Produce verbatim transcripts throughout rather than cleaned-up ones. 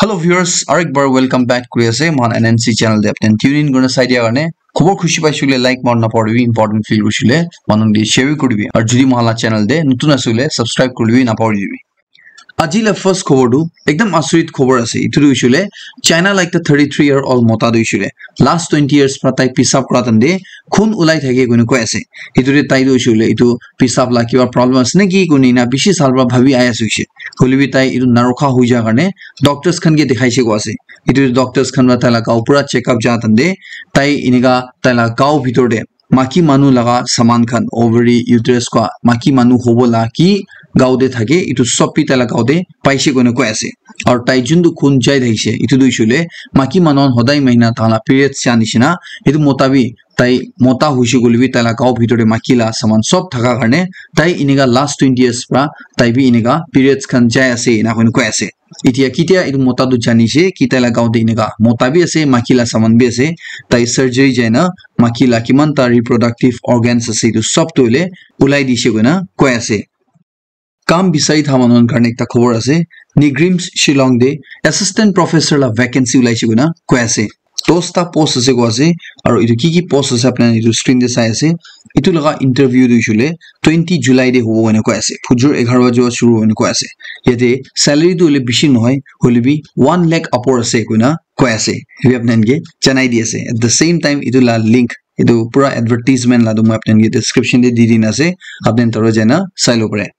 Hello viewers, aru ek bar welcome back kuri ase mohan N N C channel te. Apni tune in kurina sai dia karne khobor khushi paishe koile like mara napahoribi, important feel kurishe koile manu khan ke share bi kuribi. Aru jodi mohan la channel te notun ase koile subscribe kuribi napahoribi. Aji la first khobor tu ekdam asurit khobor ase. Itu tu hoishe koile China la ekta thirty three year old mota tu hoishe koile last twenty years pra tai pisap kura time te khun ulai thake koina koi ase. Itu te tai tu hoishe koile itu pisap la kiba problem ase naki koina ena bishi saal pra bhabi ahi ase hoishe. Hoilebi tai itu narokha hoi ja karne doctors khan ke dikhaishe koi ase. Itu doctors khan pra tai la gao pura check up ja time te tai enika tai la gao bitor te maki manu laga saman khan, ovary, uterus koi, maki manu hobo la ki gao te thake, itu sob bi tai la gao te paishe koina koi ase. Aru tai juntu khun jai thakishe itu tu hoishe koile maki manu khan hodai mahina tai la periods ja nishina, itu mota bi tai mota hoishe koile bi tai la gao bitor te maki la saman sob thaka karne tai enika last twenty years pra tai bi enika periods khan jai ase ena koina koi ase. Etiya ketia itu mota tu janishe ki tai la gao te enika mota bi ase, maki la saman bi ase, tai surgery jaina maki la kiman ta reproductive organs ase itu sob tu hoile ulai dishe koina koi ase. Kam bisari tha manu khan karne ekta khobor ase. NEIGRIHMS Shillong te assistant professor la vacancy ulaishe koina koi ase. Dosta post ase koi ase, aru itu ki ki post ase apni khan itu screen te sai ase. Itu laga interview tu hoishe koile twenty July te hobo koina koi ase. Phujur egharo baje pra shuru hobo koina koi ase. Yate salary tu hoile bishi nohoi, hoilebi one lakh upor ase koina koi ase. Etu apni khan ke janai di ase. At the same time, itu la link, itu pura advertisement la tu moi apni khan ke description te di dina ase. Apni khan tara jaina sai lo pare.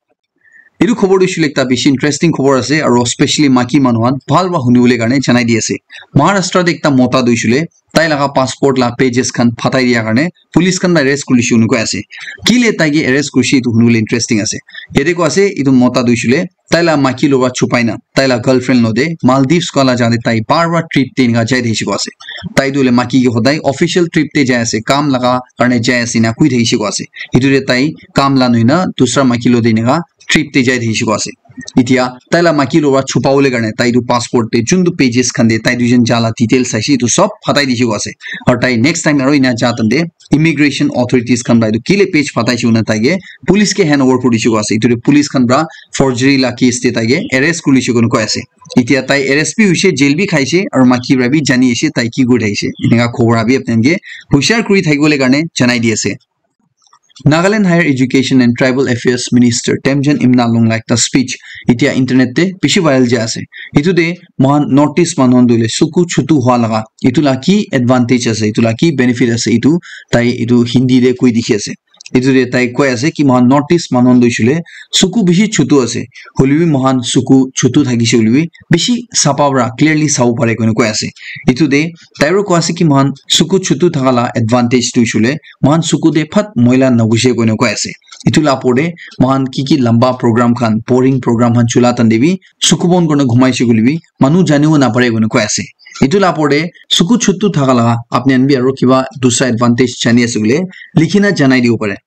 Itu khobor tu hoishe koile ekta bishi interesting khobor ase, aru specially maki manu khan bhal para huni bole karne janai di ase. Maharashtra te ekta mota tu hoishe koile tai laga passport la pages khan phatai dia karne police khan para arrest kuri lishe koina koi ase. Kile tai ke arrest kurishe itu huni bole interesting ase. Yate koi ase itu mota tu hoishe koile tai la maki lora chupai na tai la girlfriend logote Maldives koi la jaga te tai bar bar trip te enika jai thakishe koi ase. Tai tu hoile maki ke hodai official trip te jai ase, kam laga karne jai ase ena koi thakishe koi ase. Itu te tai kam la nohoi na dusra maki logote enika trip te jai thakishe koi ase. Etiya tai la maki lora chupa bole karne tai tu passport te juntu pages khan te tai duijon ja la details saishe itu sob phatai dishe koi ase. Aru tai next time aru ena ja time te immigration authorities khan para itu kile page phatai shey koina tai ke police ke hand over kuri dishe koi ase. Itu te police khan para forgery la case te tai ke arrest kuri lishe koina koi ase. Etiya tai arrest bi hoishe, jail bi khaishe, aru maki para bi jani ase tai ki kuri thakishe. Enika khobor abi apni khan ke hushar kuri thakibole karne janai di ase. Nagaland Higher Education and Tribal Affairs Minister Temjen Imna Lung la ekta speech etiya internet te bishi viral jai ase. Itu te mohan North East manu khan tu hoile suku chutu hua laga itu la ki advantage ase, itu la ki benefit ase, itu tai itu Hindi te koi dikhi ase. Itu te tai koi ase ki mohan North East manu khan tu hoishe koile suku bishi chutu ase, hoilebi mohan suku chutu thakishe hoilebi bishi sapha para clearly sabo pare koina koi ase. Itu te tai para koi ase ki mohan suku chutu thaka la advantage tu hoishe koile mohan suku te phat moila nagushe koina koi ase. Itu la opor te mohan ki ki lamba program khan, boring program khan chula time te bi suku bon kurina ghumaishe koilebi manu janibo napare koina koi ase. Itu la opor te suku chutu thaka laga apni khan bi aru kiba dusra advantage jani ase koile likhina janai dibo pare.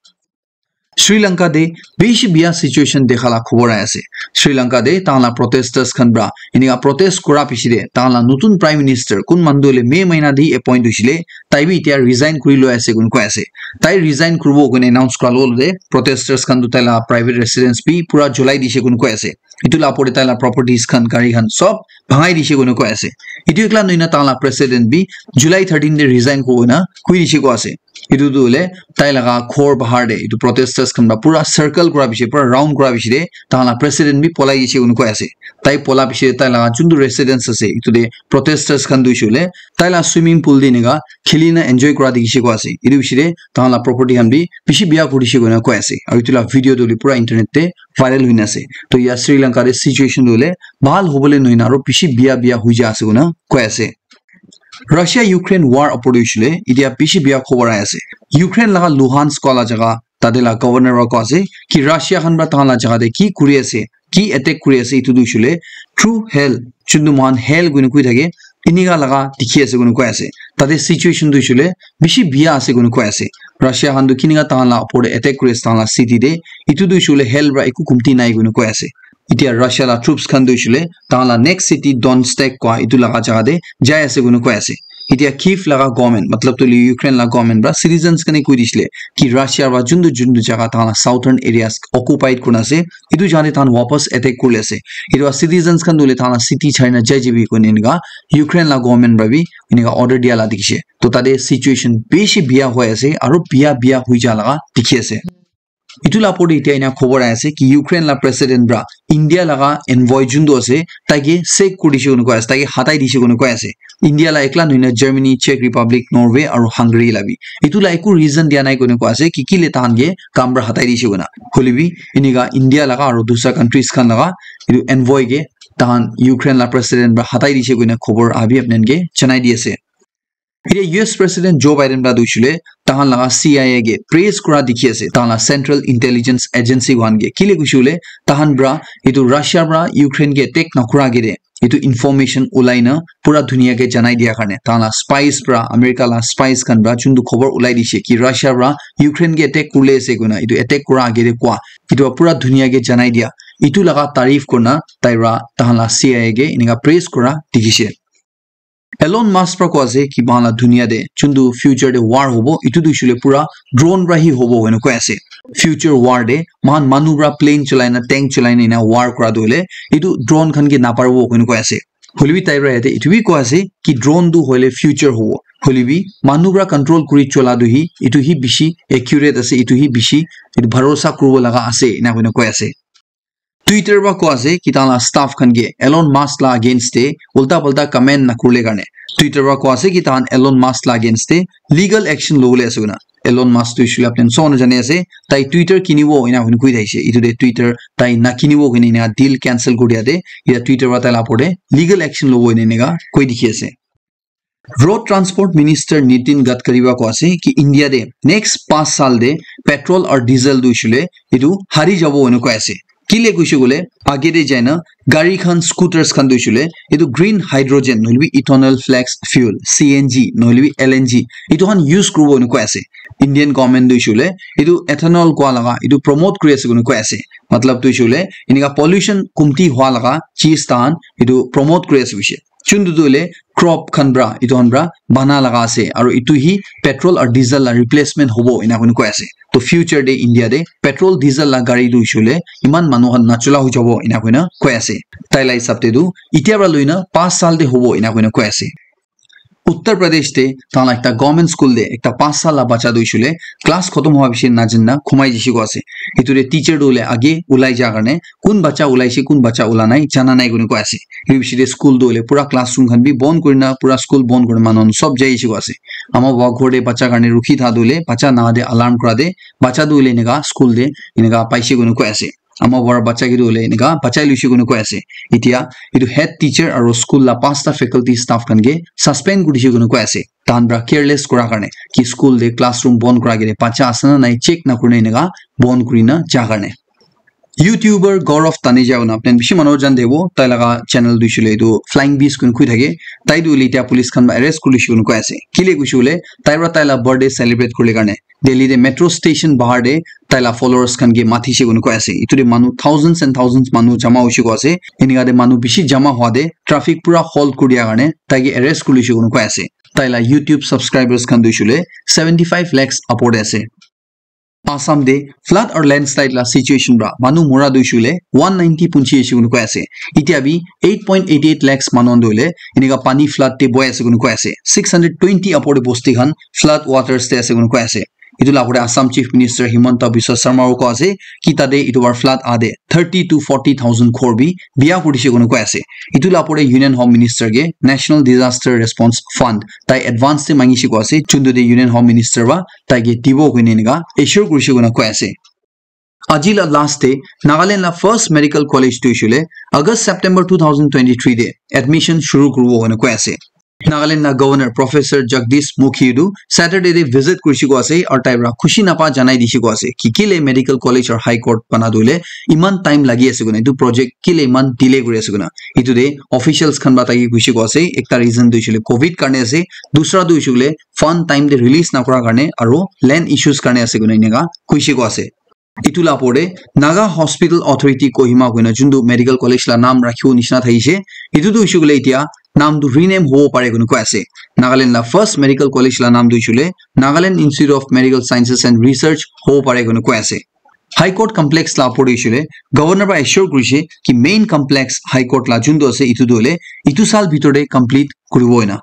Sri Lanka te bishi biya situation dekha la khobor ahi ase. Sri Lanka te tahan la protesters khan para enika protest kura piche te tahan la notun prime minister kun manu tu hoile May mahina te appoint hoishe le, tai bi etiya resign kuri loi ase koina koi ase. Tai resign kuribo koina announce kura logote protesters khan tu tai la private residence bi pura julai dishe koina koi ase. Itu la opor te tai la properties khan, gari khan sob bhangai dishe koina koi ase. Itu ekla nohoi na tahan la president bi July thirteen te resign kuribo koina koi dishe koi ase. Itu tu hoile tai laga ghor bahar te itu protesters khan para pura circle kura piche, pura round kura piche te tahan la president bi polai gishe koina koi ase. Tai pola piche te tai laga juntu residence ase itu te protesters khan tu hoishe koile tai la swimming pool te enika kheli na enjoy kura dikhi she koi ase. Itu piche te tahan la property khan bi bishi biya kuri she koina koi ase. Aru itu la video tu hoile pura internet te viral hoina ase. To ya Sri Lanka te situation tu hoile bhal hobole nohoi na aru bishi biya biya hoi ja ase koina koi ase. Russia Ukraine war opor te hoishe le, etiya bishi biya khobor ahi ase. Ukraine laga Luhansk koa la jaga, tate la governor para koi ase ki Russia khan para tahan la jaga te ki kuri ase, ki attack kuri ase, itu tu hoishe le through hell, juntu mohan hell koina koi thake, enika laga dikhi ase koina koi ase. Tate situation tu hoishe le bishi biya ase koina koi ase. Russia khan tu kinika tahan la opor te attack kuri ase tahan la city te, itu tu hoishe le hell para eku kumti nai koina koi ase. Etiya Russia la troops khan tu hoishe le tahan la next city Donetsk koa itu laga jaga te jai ase koina koi ase. Etia Kyiv laga government, matlab tu Ukraine laga government pra citizens kane koi disile ki Russia pra juntu juntu jaga tahan la southern areas occupied kurina ase, etu jaga te tahan wapas attack kurile ase. Etu pra citizens khan tu hoile tahan la city chari na jai jabi koina enika Ukraine laga government pra bi enika order dia la dikhishe. To tate situation bishi biya hoi ase, aro biya biya hoi ja laga dikhi ase. Etu la opor te etia ena khobor ahi ase ki Ukraine la president pra India laga envoy juntu ase, taike sack kuri dishe koina koi ase, taike hatai dishe koina koi ase. India la ekla nohoi na Germany, Czech Republic, Norway aro Hungary la bi. Etu la eku reason dia nai koina koi ase ki kile tahan ke kam pra hatai dishe koina. Hoile bi enika India laga aro dusra countries khan laga etu envoy ke tahan Ukraine la president pra hatai dishe koina khobor abi apni khan ke janai di ase. Etia U S President Joe Biden pra tu hoishe le tahan laga C I A ke praise kura dikhi ase, tahan la Central Intelligence Agency khan ke. Kile koishe le tahan pra etu Russia pra Ukraine ke attack nakura agete etu information ulai na pura dunia ke janai dia karne, tahan la spies pra, America la spies khan pra juntu khobor ulai dishe ki Russia pra Ukraine ke attack kurile ase koina, etu attack kura agete koa, etu pura dunia ke janai dia, etu laga tarif kurina tai pra tahan la C I A ke enika praise kura dikhishe. Elon Musk pra koi ase ki moikhan la dunia te juntu future te war hobo, etu tu hoishe le pura drone pra hi hobo koina koi ase. Future war te moikhan manu pra plane cholai na, tank cholai na ena war kura tu hoile etu drone khan ke naparibo koina koi ase. Hoile bi tai pra yate etu bi koi ase ki drone tu hoile future hobo. Hoile bi manu pra control kuri chola tu hi, etu hi bishi accurate ase, etu hi bishi etu bharosa kuribo laga ase, ena koina koi ase. Twitter pra koi ase ki tahan la staff khan ke Elon Musk la against te ulta palta comment nakurile karne. Twitter pra koi ase ki tahan Elon Musk la against te legal action lobole ase koina. Elon Musk tu hoishe le apni khan sob jane ase, tai Twitter kinibo ena hoi koi thakishe. Etu te Twitter tai nakinibo koina ena deal cancel kuri dia te, etia Twitter pra tai la opor te legal action lobo ena eneka koi dikhi ase. Road Transport Minister Nitin Gadkari pra koi ase ki India te next panch saal te petrol aru diesel tu hoishe le etu hari jabo ena koi ase. Kile koishe koile age te jai na gari khan, scooters khan tu hoishe le etu green hydrogen nohole bi ethanol flex fuel, C N G nohole bi L N G, etu khan use kuribo ena koi ase. Indian government tu hoishe le etu ethanol kua laga etu promote kuri ase koina koi ase. Matlab tu hoishe le enika pollution kumti hua laga cheez tahan etu promote kuri ase hoishe. Juntu tu hoile crop khan pra, etu khan pra bana laga ase, aru etu hi petrol aru diesel la replacement hobo, ena koina koi ase. To future te India te petrol, diesel la gari tu hoishe le eman manu khan nachola hoi jabo, ena koina koi ase. Tai la hisab te tu etia pra loina panch saal te hobo, ena koina koi ase. Uttar Pradesh te tahan la ekta government school te ekta panch saal la bacha tu hoishe le class khotom hua piche najana khumai jaise koi ase. Etu te teacher tu hoile age ulai ja karne kun bacha ulaise, kun bacha ula nai, jana nai koina koi ase. Etu piche te school tu hoile pura classroom khan bi bon kurina, pura school bon kurina manu khan sob jai jaise koi ase. Ama baba ghor te bacha karne rukhi tha tu hoile, bacha naha te alarm kura te, bacha tu hoile enika school te enika paise koina koi ase. Ama baba bacha ke tu hoile enika bachai loise koina koi ase. Etia etu head teacher aru school la panchta faculty staff khan ke suspend kuri dise koina koi ase. Tahan pra careless kura karne ki school te classroom bon kura ke bacha ase na nai check nakurina enika bon kurina ja karne. YouTuber Gaurav Taneja koina apni khan bishi manu jan thebo, tai laga channel tu hoishe le etu Flying Beast koina koi thake. Tai tu hoile etia police khan para arrest kuri loise koina koi ase. Kile koishe koile tai para tai la birthday celebrate kuribole karne Delhi te metro station bahar te tai la followers khan ke matishe koina koi ase. Etu te manu thousands and thousands manu jama hoishe koi ase. Enika te manu bishi jama hua te traffic pura halt kuri dia karne tai ke arrest kuri loise koina koi ase. Tai la YouTube subscribers khan tu hoishe koile seventy five lakhs upor te ase. Assam te flood aru landslide la situation para manu mora tu hoishe koile one ninety punchi ase koina koi ase. Etia bi eight point eight eight lakhs manu khan tu hoile enika pani flood te bohi ase koina koi ase. Six hundred twenty upor te bosti khan flood waters te ase koina koi ase. Etu la opor te Assam Chief Minister Himanta Biswa Sarma koi ase ki tate etu para flood ahate thirty to forty thousand ghor bi biya kuri dise koina koi ase. Etu la opor te Union Home Minister ke National Disaster Response Fund tai advance te mangishe koi ase, juntu te Union Home Minister para tai ke dibo koina enika assure kurishe koina koi ase. Aji la last te Nagaland la first medical college tu hoishe koile August September two thousand twenty-three te admission shuru kuribo koina koi ase. Nagaland la Governor Professor Jagdish Mukhi tu Saturday te visit kurishe koi ase aru tai para khushi napa janai dishe koi ase ki kile medical college aru high court bana tu hoile iman time lagi ase koina, etu project kile iman delay kuri ase koina. Etu te officials khan para tai ke koishe koi ase, ekta reason tu hoishe koile covid karne ase, dusra tu hoishe koile fund time te release nakura karne aru land issues karne ase koina enika koishe koi ase. Etu la opor te Naga Hospital Authority Kohima koina juntu medical college la naam rakhibo nishina thakishe, etu tu hoishe koile etia naam tu rename hobo pare koina koi ase. Nagaland la first medical college la naam tu hoishe koile Nagaland Institute of Medical Sciences and Research hobo pare koina koi ase. High Court complex la opor te hoishe koile governor para assure kurishe ki main complex High Court la juntu ase itu tu hoile itu saal bitor te complete kuribo hoina.